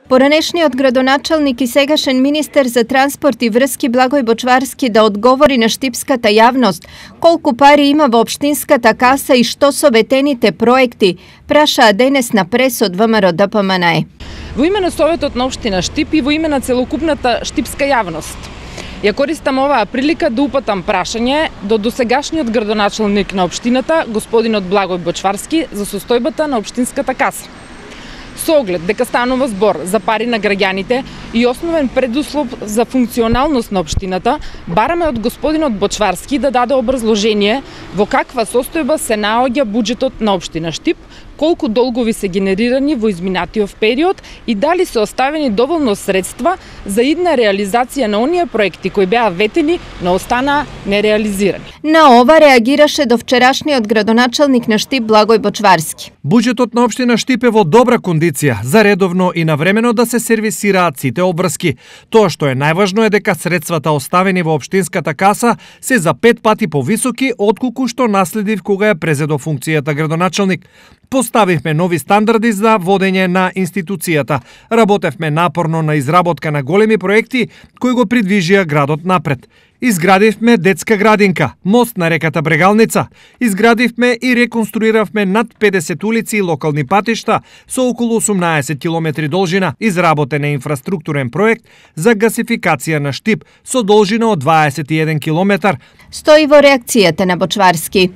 Поранешниот градоначалник и сегашен министер за транспорт и врски Благој Бочварски да одговори на штипската јавност колку пари има во општинската каса и што со ветените проекти, прашаа денес на прес од ВМРО ДПМНЕ. Во име на Советот на општина Штип и во име на целокупната штипска јавност, ја користам оваа прилика да упатам прашање до досегашниот градоначалник на општината, господинот Благој Бочварски, за состојбата на општинската каса. Со оглед дека станува збор за пари на граѓаните и основен предуслов за функционалност на општината, бараме од господинот Бочварски да даде образложение во каква состојба се наоѓа буџетот на општина Штип, колку долгови се генерирани во изминатиот период и дали се оставени доволно средства за идна реализација на оние проекти кои беа ветени, но останаа нереализирани. На ова реагираше до вчерашниот градоначалник на Штип Благој Бочварски. Буџетот на општина Штип е во добра кондиција за редовно и навремено да се сервисираат сите обврски. Тоа што е најважно е дека средствата оставени во општинската каса се за 5 пати повисоки отколку што наследив кога ја презедо функцијата градоначалник. Поставивме нови стандарди за водење на институцијата. Работевме напорно на изработка на големи проекти кои го придвижија градот напред. Изградивме детска градинка, мост на реката Брегалница. Изградивме и реконструиравме над 50 улици и локални патишта со околу 18 километри должина. Изработен е инфраструктурен проект за гасификација на Штип со должина од 21 километар. Стои во реакцијата на Бочварски.